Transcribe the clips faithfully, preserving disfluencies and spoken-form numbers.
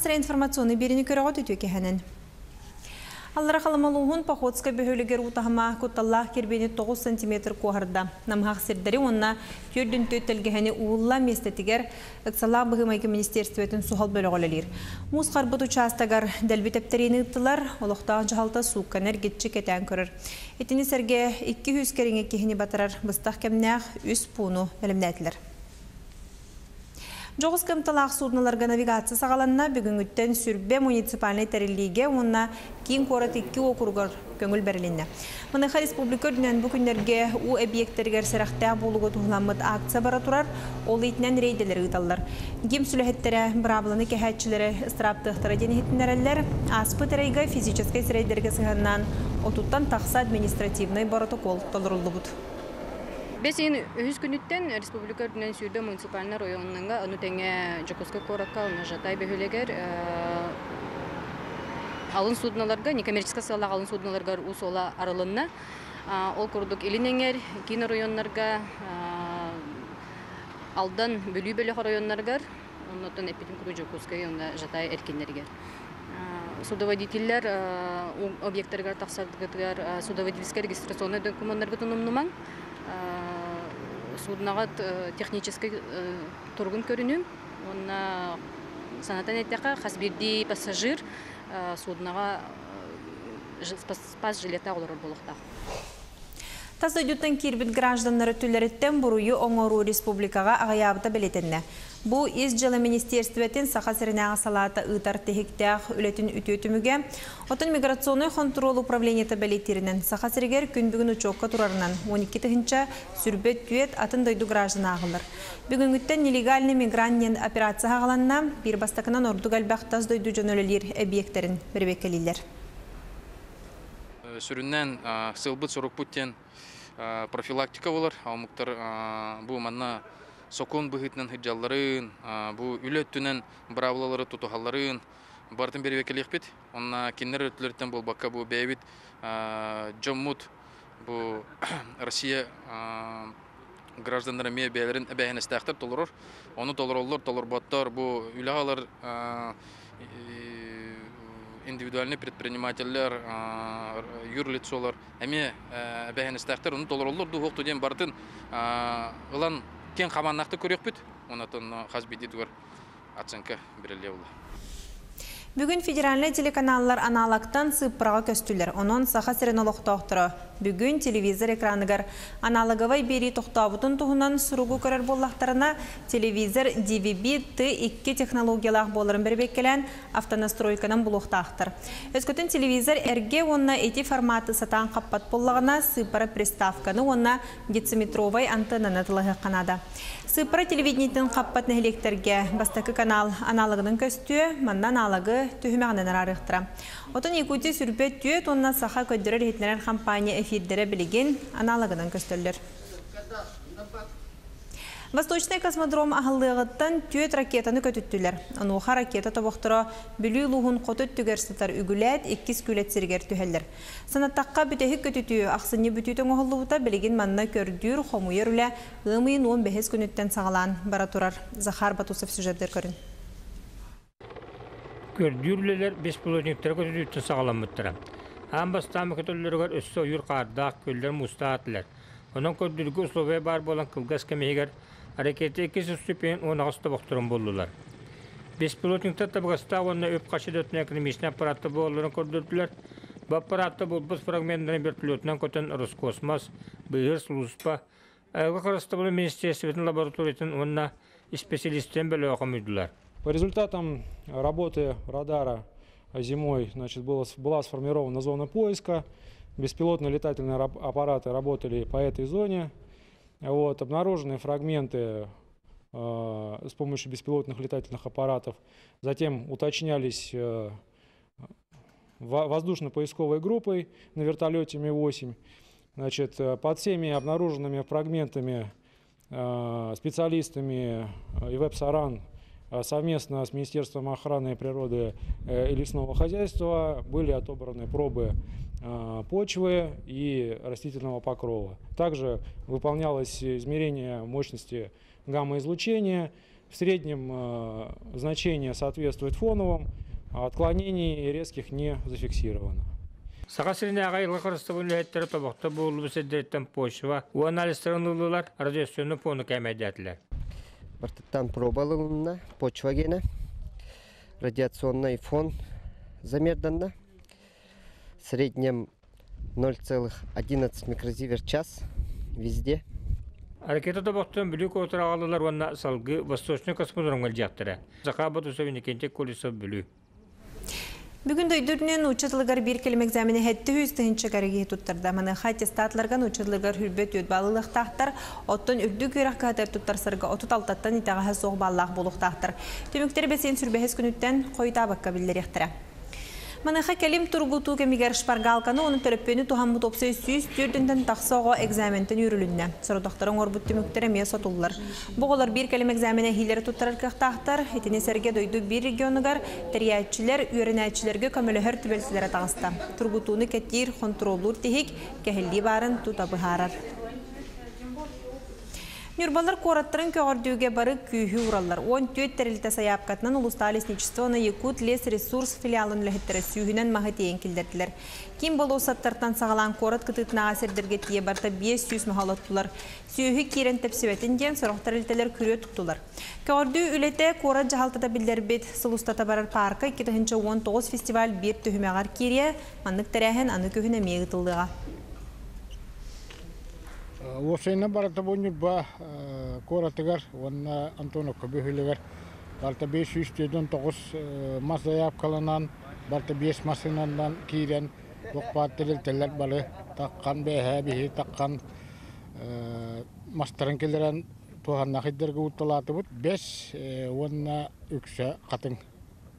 Саха информационный биэриини көрөҕүт, үтүө киэһэнэн. Аллараа Халыма улууһун Походскай бөһүөлэгэр уу таһыма кутталлаах кирбиини тоҕус сантиметр куоһарда. Намыһах сирдэри уонна түөрт уон тэлгэһэни уу ылла, миэстэтигэр ыксаллаах быһыы-майгы министиэристибэтин суһал бөлөҕө үлэлиир. Муус харбыт учаастагар дэлби тэптэриини ыыттылар, олохтоох дьаһалта суукканы эргиччи кэтээн көрөр. Итини сэргэ икки сүүс кэриҥэ киһини батарар быстах кэмнээх үс пууну бэлэмнээтилэр. Дьоҕус кыамталаах судноларга навигация саҕаланна. Бүгүҥҥүттэн сүүрбэ муниципальнай тэриллиигэ уонна киин куорат икки уокуругар көҥүл бэрилиннэ. Маныаха республика үрдүнэн бу күннэргэ уу эбийиэктэригэр сэрэхтээх буолууга туһуламмыт акция бара турар, ол иитинэн рейдэлэри ыыталлар. ГИМС үлэһиттэрэ быраабыланы кэһээччилэри ыстырааптыахтара диэн иһитиннэрэллэр. Ааспыт ыйга физическэй сирэйдэргэ сыһыаннаан отуттан тахса административнай боротокуол толоруллубут. Бэс ыйын үһүс күнүттэн республика үрдүнэн сүүрбэ муниципальнай оройуоҥҥа, ону тэҥэ Дьокуускай куоракка, уонна Жатай бөһүөлэгэр алын судноларга, некоммерческай сыаллаах алын судноларга уу суола арылынна. Ол курдук Илин Эҥэр, киин оройуоннарга, Алдан, Бүлүү бөлөх оройуоннарыгар, оннуттан эппитим курдук Дьокуускай уонна Жатай эркиннэригэр. Судоводителлэр объекттарыгар тахсаргытыгар судоводительскай регистрационнай докумуоннаргытын умнумаҥ, судноҕыт техническэй туругун көрүнүҥ уонна санатан эттэххэ, хас биирдии пассажир судноҕа спас жилеттаах олорор буолуохтаах. Тас дойдуттан киирбит гражданнар өттүлэриттэн буруйу оҥоруу республикаҕа аҕыйаабыта бэлиэтэннэ. Бу Ис дьыала министиэристибэтин Саха сиринээҕи салаата ыытар тиһиктээх үлэтин үтүө түмүгэ. Оттон миграционнай хонтуруол управлениета бэлиэтииринэн, Саха сиригэр күн бүгүн учуокка турарынан он икки тыһыынча сүүрбэ түөрт атын дойду граждана ааҕыллар. Бүгүҥҥүттэн нелегальный мигрант диэн операция саҕаланна, биир бастакынан ордук элбэх тас дойду дьоно үлэлиир эбийиэктэрин бэрэбиэркэлииллэр. Сүрүннээн сыалбыт-сорукпут диэн профилактика буолар. Омуктар бу манна сокуон быһыытынан сылдьалларын, бу үлэ өттүнэн быраабылалары тутуһалларын барытын бэрэбиэркэлиэхпит. Онно кинилэр өттүлэриттэн буолбакка, бу бэйэбит дьоммут, бу Россия гражданнара эмиэ бэйэлэрин эбээһинэстээхтэр толорор. Ону толороллор, толорботтор, бу үлэҕэ ылар индивидуальный предпринимателлэр, юрлицолар эмиэ эбээһинэстээхтэр, ону толороллор дуу, суох диэн барытын ылан киэҥ хабааннаахтык көрүөхпүт. Онон хас биирдиитигэр оценка бериллиэ буолла. Бүгүн федеральнай телеканаллар аналогтан сыыппараҕа көстүлэр. Онон Саха сирин олохтоохторо бүгүн телевизор экраныгар аналоговай биэрии тохтообутун туһунан суругу көрөр буоллахтарына, телевизор D V B T икки технологиялаах буоларын бэрэбиэркэлээн автонастройканан булуохтаахтар. Өскөтүн телевизор эргэ уонна ити форматы сатаан хаппат буоллаҕына, сыыппара приставканы уонна дециметровай антеннаны атыылаһыахха наада. Сыыппара телевидениетин хаппат нэһилиэктэргэ бастакы канал аналогынан көстүө, манна аналогы түһүмэҕинэн араарыахтара. Оттон Якутия сүүрбэ түөрт уонна Саха көрдөрөр-иһитиннэрэр компания эфирдэрэ билигин аналогынан көстөллөр. Восточный космодром аһыллыаҕыттан түөрт ракетаны көтүттүлэр. Онуоха ракета тобохторо Бүлүү улууһун хоту өттүгэр сытар Үгүлээт иккис Күүлэт сиригэр түһэллэр. Санаттахха, бүтэһик көтүтүү ахсынньы бүтүүтэ оҥоһуллубута. Билигин манна көрдүүр, хомуйар үлэ ыам ыйын он бэһис күнүттэн саҕалаан бара турар. Захар Батусов сюжетыгар көрүҥ. Көрдүүр үлэлэр беспилотниктары көтүтүүттэн саҕаламмыттара. Аан бастаан көтөллөрүгэр өссө ойуур хаардаах, күөллэр муустаах этилэр. Онон көрдүүргэ условия баар буолан, кылгас кэм иһигэр ракета иккис ступень уон аҕыс тобохторун буллулар. Беспилотниктар табыгастаах уонна үп-харчы өттүнэн экономичнай аппараттар буолалларын көрдөрдүлэр. Бу аппаратта булбут фрагменттарын вертолетунан көтөн Роскосмос, быыһыыр сулууспа, Айылҕа харыстабылын министиэристибэтин лабораториятын уонна исписэлиистэрин бөлөҕө хомуйдулар. По результатам работы радара зимой, значит, было, была сформирована зона поиска. Беспилотные летательные аппараты работали по этой зоне. Вот, обнаружены фрагменты э, с помощью беспилотных летательных аппаратов. Затем уточнялись э, воздушно-поисковой группой на вертолете Ми-восемь. Значит, э, под всеми обнаруженными фрагментами э, специалистами ИВЭП САРАН совместно с Министерством охраны природы и лесного хозяйства были отобраны пробы почвы и растительного покрова. Также выполнялось измерение мощности гамма-излучения. В среднем э, значение соответствует фоновым, а отклонений резких не зафиксировано. Саха сиринээҕи айылҕа харыстабылын үлэһиттэрэ тобохто булуллубут сирдэриттэн почва уу анализтарын ыллылар, радиационнай фону кээмэйдээтилэр. Барытыттан проба ылынна, почва гиэнэ, радиационный фон замерданна. В среднем ноль целых одиннадцать микрозиверт час везде. Ракета тобохтон Бүлүү куоратыгар аҕаллылар уонна салгыы Восточный космодромҥа илдьиэхтэрэ. Захар Ботусов, Иннокентий Колесов, Бүлүү. Бүгүн дойду үрдүнэн нуучча тылыгар биир кэлим экзамени сэттэ сүүс тыһыынча киһи туттарда. Маныаха аттестатларга нуучча тылыгар сүүрбэ түөрт балл ылыахтаахтар, оттон үрдүк үөрэх кыһатыгар туттарсарга отут алтаттан итэҕэһэ суох баллаах буолуохтаахтар. Түмүктэр бэс ыйын сүүрбэ бэһис күнүттэн хойутаабакка биллэриэхтэрэ. Маныаха кэлим тургутуу кэмигэр шпаргалканы уонна төлөпүөнү туһаммыт уопсай сүүс түөртүнтэн тахса оҕо экзаментэн үүрүлүннэ. Сорудахтары оҥорбут түмүктэр эмиэ сотуллар. Бу оҕолор биир кэлим экзамена эһиилэри туттарар кыахтаахтар. Итини сэргэ дойду биир регионугар тэрийээччилэр, үөрэнээччилэргэ көмөлөһөр түбэлтэлэрэ таҕыста. Тургутууну кэтиир, хонтуруоллуур тиһик кэһиллии баарын тута быһаарар. Ньурбалар куораттарын көҕөрдүүгэ бары күүһү уураллар. Уон түөрт тэрилтэ сайаапкатынан улуустааҕы лесничество уонна Якут лес ресурс филиалын үлэһиттэрэ сүүһүнэн маһы тиэйэн киллэрдилэр. Киин болуоссаттартан саҕалаан куорат кытыытынааҕы сирдэргэ тиийэ барыта биэс сүүс маһы олоттулар. Сүөһү киирэн тэпсибэтин диэн сорох тэрилтэлэр күрүө туттулар. Көҕөрдүү үлэтэ куорат дьаһалтата биллэрбит сыл устата барар паарка икки тыһыынча уон тоҕус фестиваль биир түһүмэҕэр киириэ, маннык тэрээһин аны күһүн эмиэ ыытыллыаҕа. Уопсайынан барыта бу Ньурба куоратыгар уонна Антоновка бөһүөлэгэр барыта биэс сүүс түөрт тоҕус мас заявкаланан, барыта биэс массыынанан киирэн, туох баар тэрилтэлэр бары таххан, бээһээ биһи таххан мастарын киллэрэн туһаннаах иддэргэ утталаатыбыт. Бэс уонна үксэ хатыҥ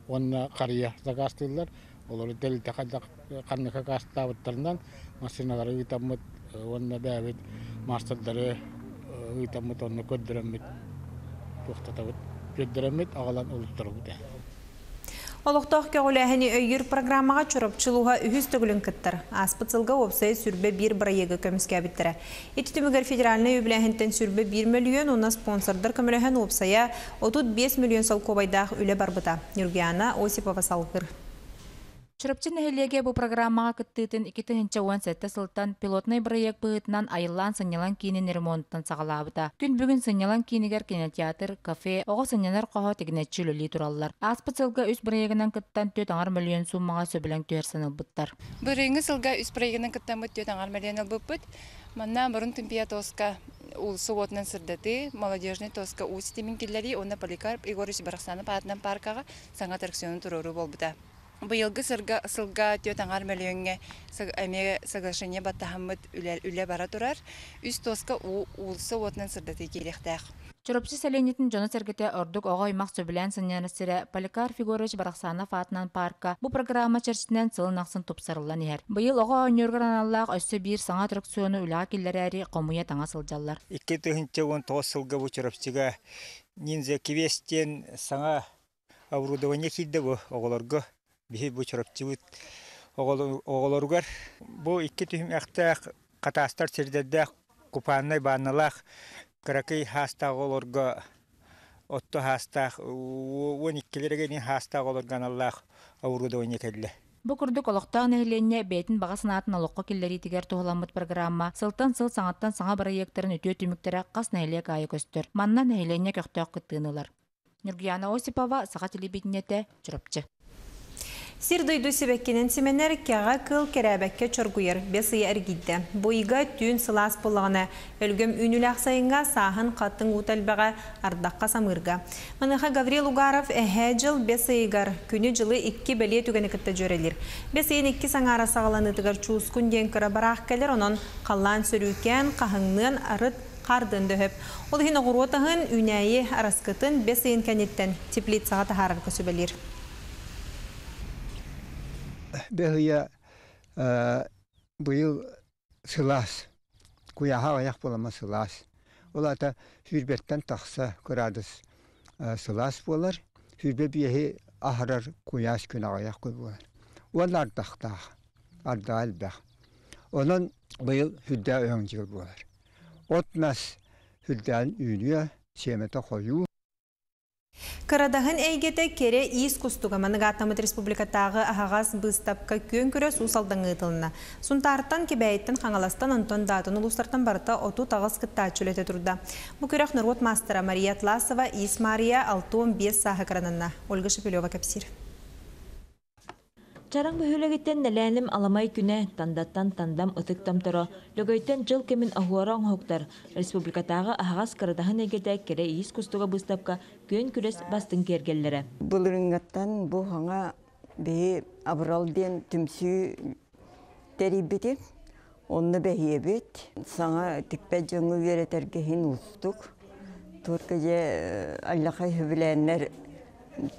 уонна харыйа заказтыыллар. Олору тэрилтэ ханныка каастаабыттарынан массыыналары ыытаммыт уонна бэйэбит маастардары ыытаммыт, онно көрдөрөммүт туохтатабыт, көрдөрөммүт аҕалан олуттарабыт. Олохтоох көҕүлээһини өйүүр программаҕа Чурапчы улууһа үһүс төгүлүн кыттар. Ааспыт сылга уопсай сүүрбэ биир бырайыагы көмүскээбиттэрэ. Ити түмүгэр федеральнай үбүлээһинтэн сүүрбэ биир мөлүйүөн уонна спонсордар көмөлөһөн уопсайа отут биэс мөлүйүөн солкуобайдаах үлэ барбыта. Нюргиана Осипова салгыр. Чурапчы нэһилиэгэ бу программаҕа кыттыытын икки тыһыынча уон сэттэ сылтан пилотнай бырайыак быһыытынан айыллаан сынньалаҥ киинин ремонтан саҕалаабыта. Күн бүгүн сынньалаҥ киинигэр кинотеатр, кафе, оҕо сынньанар хоһо тигинэччи үлэлии тураллар. Ааспыт сылга үс бырайыагынан кыттан түөрт аҥар мөлүйүөн сууммаҕа сөбүлэҥ түһэрсэн ылбыттар. Бырайыҥҥы сылга үс бырайыагынан кыттаммыт түөрт аҥар мөлүйүөн ылбыппыт. Манна мурун тымпия тоска уулусса уотунан сырдатыы, молодежный тоска уу ситимин киллэрии уонна Поликарп Егорович Барахсанов аатынан паркаҕа саҥа аттракциону туруоруу буолбута. Быйылгы сырга сылга түөрт аҥар мөлүйүөҥҥэ эмиэ соглашение баттаһаммыт үлэ, үлэ бара турар. Үс тоска уу уулусса уотунан сырдатыы киириэхтээх. Чурапчы сэлиэнньэтин дьоно-сэргэтэ ордук оҕо аймах сөбүлээн сынньанар сирэ Поликарп Егорович Барахсанов аатынан парка бу программа чэрчитинэн сылын ахсын тупсарыллан иһэр. Быйыл оҕо оонньуургар аналлаах өссө биир саҥа аттракциону үлэҕэ киллэрээри хомуйа таҥа сылдьаллар. Икки тыһыынча уон тоҕус сылга бу Чурапчыга ниндзя квест диэн саҥа оборудование киирдэ бу оҕолорго. Биһи бу Чурапчыбыт оҕолоругар бу икки түһүмэхтээх хатаастар сирдэрдээх купааннай баанналаах кыракый хаастаах оҕолорго отто хаастаах уон иккилэргэ хаастаах оҕолорго аналлаах оборудование кэллэ. Бу курдук олохтоох нэһилиэнньэ бэйэтин баҕа санаатын олоххо киллэриитигэр туһуламмыт программа сылтан сыл саҥаттан саҥа бырайыактарын үтүө түмүктэрэ хас нэһилиэк аайы көстөр. Манна нэһилиэнньэ көхтөөх кыттыыны ылар. Нюргияна Осипова, Саха телевидениете, Чурапчы. Сир дойду сибэккинэн симэнэр кэҕэ кыл кэрээбэккэ чоргуйар бэс ыйа эргийдэ. Бу ыйга түүн сылаас буоллаҕына өлгөм үүнүүлээх сайыҥҥа сааһын хатыҥ уута элбэҕэ ардахха самыырга. Маныаха Гаврил Угаров эһээ дьыл бэс ыйыгар күнү-дьылы икки бэлиэ түгэни кытта дьүөрэлиир. Бэс ыйын икки саҥаара саҕаланыытыгар чуускун диэн кыра бараах кэлэр, онон халлаан сөрүүкээн, хаһыҥныан арыт хардын дөһөп. Ол иһин оҕуруот аһын үүнээйи араскытын бэс ыйын кэнниттэн теплицаҕа таһаарарга сүбэлиир. Бэс ыйа быйыл сылаас, куйааһа аҕыйах буолама сылаас. Ол аата сүүрбэттэн тахса кыраадыс сылаас буолар, сүүрбэ биэһи аһарар куйаас күн аҕыйах буолар. Уонна ардахтаах, ардаҕа элбэх. Онон быйыл сүрдээх өҥ дьыл буолар. От мас сүрдээн үүнүө, сиэмэтэ хойуу. Кырадаһын эйгэтэ кэрэ иис кустуга маныгаттамыт республикатааҕы аһаҕас быыстапка күөн күрэс Уус Алдаҥҥа ыытылынна. Сунтаартан, Кэбээйиттэн, Хаҥаластан, онтон да атын улуустартан барыта отут аҕыс кыттааччы үлэтэ турда. Бу күрэх норуот маастара Мария Атласова, Иис Мария алта уон биэс сааһыгар ананна. Ольга Шепелева кэпсиир. Чараҥ бөһүөлэгиттэн Нэлээним аламай күнэ, Тандаттан Тандам ытык томторо, Лөгөйтөн дьыл кэмин оһуора оҥоһуктар, республикатааҕы аһаҕас Кырадаһын эйгэтэ кэрэ иис кустуга быыстапка күөн күрэс бастыҥ киэргэллэрэ. Былырыҥҥаттан бу хаҥа биһи Абырал диэн түмсүү тэрийбити. Онно бэһиэбит. Саҥа тикпэт дьоҥҥо үөрэтэргэ иһин уустук. Турка дьэ аллахай хөбүлээннэр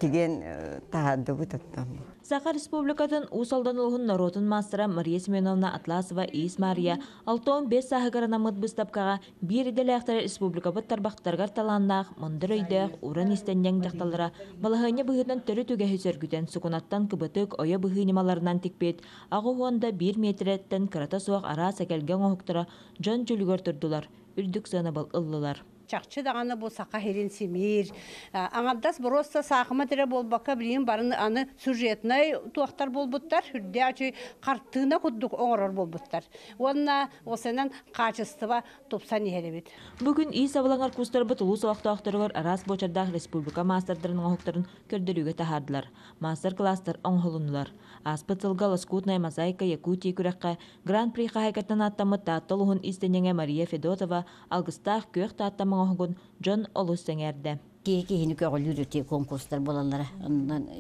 тиген таһаардыбыт оттон. Саха Республикатын Уус Алдан улууһун норуотун маастара Мария Семеновна Атласова Иис Мария алта уон биэс сааһыгар анаммыт быыстапкаҕа биир идэлээхтэрэ республикабыт тарбахтарыгар талааннаах, мындыр өйдөөх, уран иистэнньэҥ дьахталлара балаһыанньа быһыытынан төрүт үгэһи сөргүтэн сукунаттан кыбытык, ойо быһыы ньымаларынан тикпит аҕыс уон да биир миэтэрэттэн кырата суох араас эгэлгэ оҥоһуктара дьон дьүлүгэр турдулар, үрдүк сыанабыл ыллылар. Чахчы даҕаны бу саха сирин симиир. Аҥардас боруоста саахыма тирэ буолбакка билигин барын аны сюжетнай туохтар буолбуттар, үрдээх хартыына курдук оҥорор буолбуттар. Уонна осенан качество тупсан иһэрибит. Бүгүн иис абылаҥар кустарбыт улуус олохтоохторугар араас буочардаах республика маастардарын оҥоһуктарын көрдөрүүгэ таһаардылар. Мастер-класстар оҥоһулуннулар. Ааспыт сылга Лоскутная мозаика Якутии күрэххэ Гран-при хаһаайкаттан ааттаммыт Таатта улууһун иистэнньэҥэ Мария Федотова алгыстаах күөх Таатта оҥоһугун дьон олус сэҥээрдэ. Киһи киһини көҕүлүүр үтүө конкурстар буолаллара.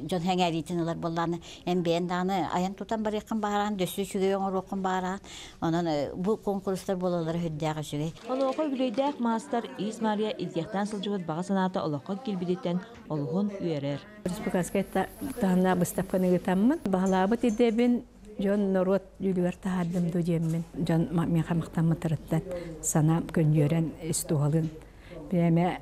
Дьон сэҥээриитин ылар буоллааны эн бэйэн даҕаны айан тутан барыаххын баҕараан, дөссө үчүгэй оҥоруоххун баҕараан. Онон бу конкурстар буолаллара үрдээх үчүгэй. Онуоха үбүлүөйдээх маастар Иис Мария илдьиэхтээн сылдьыбыт баҕа санаата олоххо киирбититтэн олуһун үөрэр. Республиканскай таһымнаах быыстапканы ыытаммын, баҕалаабыт идэбин дьон норуот дьүүлүгэр таһаардым дуу диэммин. Дьон миэхэ махтаммыттарыттан санаам көнньүөрэн ис туһалын биэмэ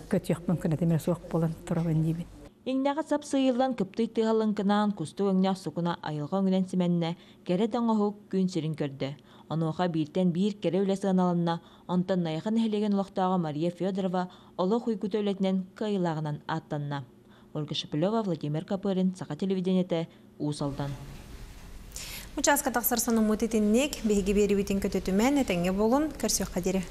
көтүөхпүн кынатым суох буолан турабын диибин. Иҥнэҕэ сап сыыйыллан кыптый тыаһалыҥкынаан кустук өҥнөөх сукуна айылҕа өҥүнэн симэннэ, кэрэ да оҥоһук күн сирин көрдө. Онуоха бииртэн биир кэрэ үлэ сыаналанна, онтон Найахы нэһилиэгин олохтооҕо Мария Федорова олох уйгута үлэтинэн кыайыылааҕынан ааттанна. Ольга Шепелева, Владимир Копырин, Саха телевидениетэ, Уус Алдан. Участка тахсар сонуммут итинник, биһиги биэриибитин көтүтүмэҥ, этэҥҥэ буолуҥ, көрсүөххэ диэри.